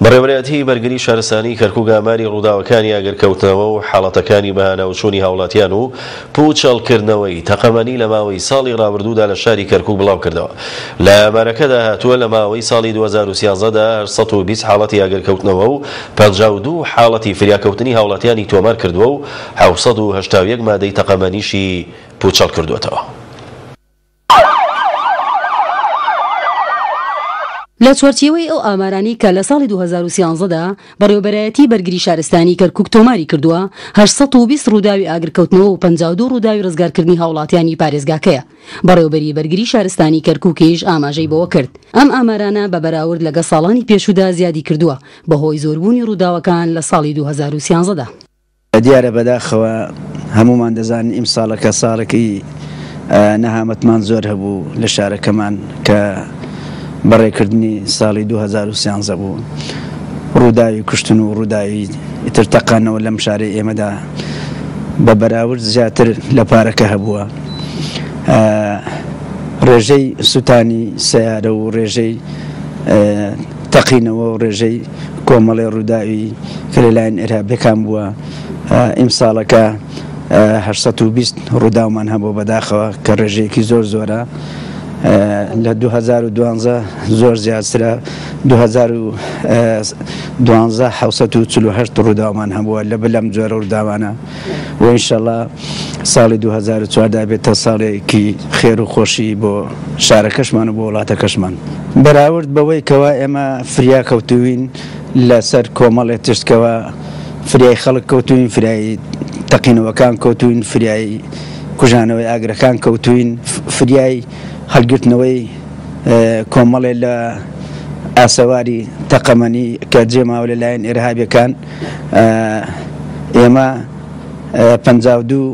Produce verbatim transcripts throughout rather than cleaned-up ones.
بەڕێوەبەرایەتی بەرگری شارستانی کەرکوک ئاماری ڕووداوەکانی ئاگرکەوتنەوە و حاڵەتەکانی بەهاناوچوونی هاوڵاتیان و پوچەڵکردنەوەی تەقەمەنی لە ماوەی ساڵی ڕابردوودا لە شاری کەرکوک بڵاوکردەوە. لە ئامارەکەدا هاتووە لە ماوەی ساڵی دوو هەزار و سیازدە دا هەشت سەد و بیست حاڵەتی ئاگرکەوتنەوە و پەنجا و دوو حاڵەتی فریاکەوتنی هاوڵاتیانی تۆمار کردووە و حەوت سەد و هەشتا و یەک مادەی تەقەمەنیشی پوچەڵ کردووەتەوە. لە چوارچێوەی ئەو ئامارانەی کە لە ساڵی دوو هەزار و سیانزە دا بەڕێوەبەرایەتی بەرگری شارستانی کەرکوک تۆماری کردووە، هەشت سەد و بیست ڕووداوی ئاگرکەوتنەوە و پەنجا و دوو ڕووداوی ڕزگارکردنی هاوڵاتیانی پارێزگاکەیە. بەڕێوەبەری بەرگری شارستانی کەرکوکیش ئاماژەی بەوە کرد، ئەم ئامارانە بە بەراورد لەگە ساڵانی پێشوودا زیادی کردووە بەهۆی زۆربوونی ڕووداوەکان لە ساڵی دوو هەزار و سیانزە دا. دیارە بەداخەوە هەمومان دەزانین ئیمساڵەکە ساڵێکی نەهامەتمان زۆر هەبوو لە شارەکەمان کە بەڕێکردنی ساڵی دوو هەزار و سیانزە بوو، ڕووداوی کوشتن و ڕووداوی ئیتر تەقانەوە لەم شارەی ئێمەدا بە بەراورد زیاتر لە پارەکە هەبووە. ڕێژەی سووتانی سیارە و ڕێژەی تەقینەوە و ڕێژەی کۆمەڵی ڕووداوی کە لەلایەن ئێرهابەکان بووە ئیمساڵەکە هەشت سەد و بیست ڕووداومان هەبوو بەداخەوە کە ڕێژەیەکی زۆر زۆرە. لە دوو هەزار و دوانزە زۆر زیاترە، دوو هەزار و دوانزە حەوت سەد و چل و هەشت ڕووداومان هەبووە لە بلەم جۆرە ڕووداوانە و ئینشەڵا ساڵی دوو هەزار و چواردە بێتە ساڵێکی خێر و خۆشی بۆ شارەکەشمان و بۆ وڵاتەکەشمان. بەراورد بەوەی کەوا ئێمە فریا کەوتوین لەسەر کۆمەڵێ تشتکەوە، فریای خەڵک کەوتوین، فریای تەقینەوەکان کەوتوین، فریای کوژانەوەی ئاگرەکان کەوتوین، فریای هەڵگرتنەوەی کۆمەڵێ لە ئاسەواری تەقەمەنی کە جێماوە لەلایەن ئێرهابیەکان. ئێمە پەنجا و دوو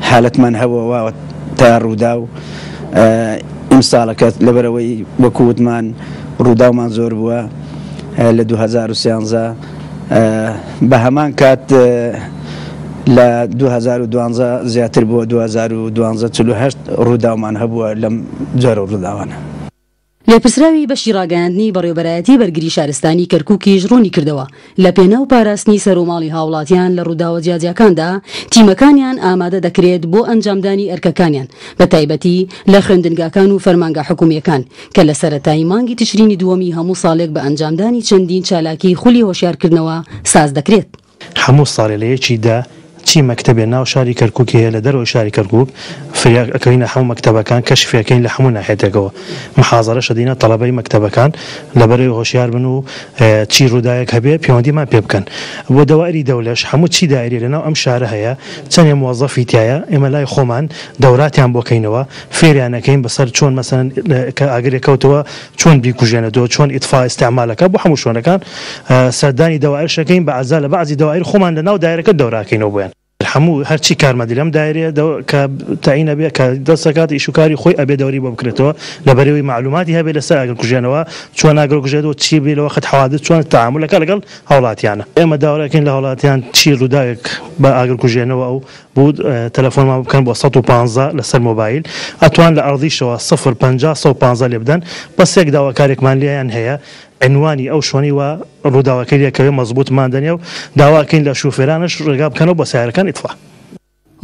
حالەتمان هەبووە تا ڕوودا و ئیمساڵەکە لەبەرەوەی وەکووتمان ڕووداومان زۆر بووە لە دوو هەزار و سیانزە، بە هەمان کات لە دوو هەزار و دوانزە زیاتر بووە، دوو هەزار و دوانزە چل و هەشت ڕووداومان هەبووە لەم جۆرە ڕووداوانە. لێپرسراوی بەشی ڕاگەیاندنی بەڕێوەبەرایەتی بەرگری شارستانی کەرکوکیش ڕوونی کردەوە لە پێناو پاراستنی سەرۆماڵی هاوڵاتیان لە ڕووداوە جیاجیاکاندا تیمەکانیان ئامادە دەکرێت بۆ ئەنجامدانی ئەرکەکانیان بە تایبەتی لە خوێندنگاکان و فەرمانگە حکومیەکان کە لە سەرەتای مانگی تشرینی دووەمی هەموو ساڵێک بە ئەنجامدانی چەندین چالاکی خولی هۆشیارکردنەوە ساز دەکرێت. هەموو ساڵێ لە یەکیدا چی مەکتەبێ ناو شاری کەرکوک هەیە لە دەرەوەی شاری کەرکوک فریا ئەکەینە هەموو مەکتەبەکان کەشفیەکەین لە هەموو ناحێتێکەوە محازەرە شەدینە تەڵەبەی مەکتەبەکان لەبەرەوەی هۆشیار بن و چی ڕووداوێک هەبێ پەیوەندیمان پێ بکەن. بۆ دەوائری دەولەش هەموو چی دایرێ لەناو ئەم شارە هەیە چەندێ موەزەفی تایە ئێمە لای خۆمان دەوراتیان بۆکەینەوە فێریانەکەین بەسەر چۆن مەسەن کە ئاگرێک کەوتەوە چۆن بیکوژێنێتەوە چۆن ئیتفا ئیستعمالەکە بۆ هەموو شوێنەکان سەردانی دەوائرشەکەین بە عەزا لە بەعزی دەوائر خۆمان لەناو دایرەکە دەوراکەینەوە بۆیان. هەموو هەرچی کارمەندی لەم دایرەیە کە تەعین ئەبێ کە دەستەکات ئیشوکاری خۆی ئەبێ دەوری بۆ بکرێتەوە لەبەرەوەی معلوماتی هەبێ لەسەر ئاگرکوژێنەوە چۆن ئاگرکوژێتەوە چی بێ لە وەخت حەوادث چۆن تەعامولەکە لەگەڵ هاوڵاتیانە. ئێمە داواکەین لە هاوڵاتیان چی ڕووداوێک بە ئاگرکوژێنەوە ئەو بوو تەلەفۆنمان بکەن بۆ سەد و پانزە لەسەر مۆبایل ئەتوان لە ئەرضیشەوە سفر پەنجا سەد و پانزە لێ بدەن. بەس یەک داواکارێکمان لێیان هەیە عنوانی ئەو شوێنی وا ڕووداوەکەی لێکەوێ مەزبوطمان دەنێ و داواکەین لە شوفێرانش ڕێگا بکەنەوە بۆ سیارەکان ئیتفا.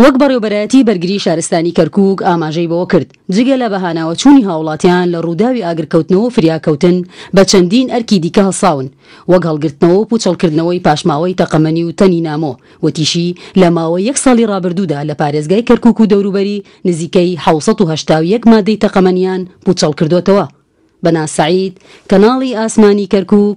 وەک بەڕێوەبەرایەتی بەرگری شارستانی کەرکوک ئاماژەی بەوە کرد جگە لە بەهاناوەچوونی هاوڵاتیان لە ڕووداوی ئاگرکەوتنەوە و فریاکەوتن بە چەندین ئەرکی دیکە هەڵساون وەک هەڵگرتنەوە و پوچەڵکردنەوەی پاشماوەی تەقەمەنی و تەنی نامۆ. وتیشی لە ماوەی یەک ساڵی ڕابردوودا لە پارێزگای کەرکوک و دەوروبەری نزیکەی حەوت سەد و هەشتا و یەک مادەی تەقەمەنیان پوچەڵ کردوتەوە. بەنا سعید، کەناڵی ئاسمانی کەرکوک.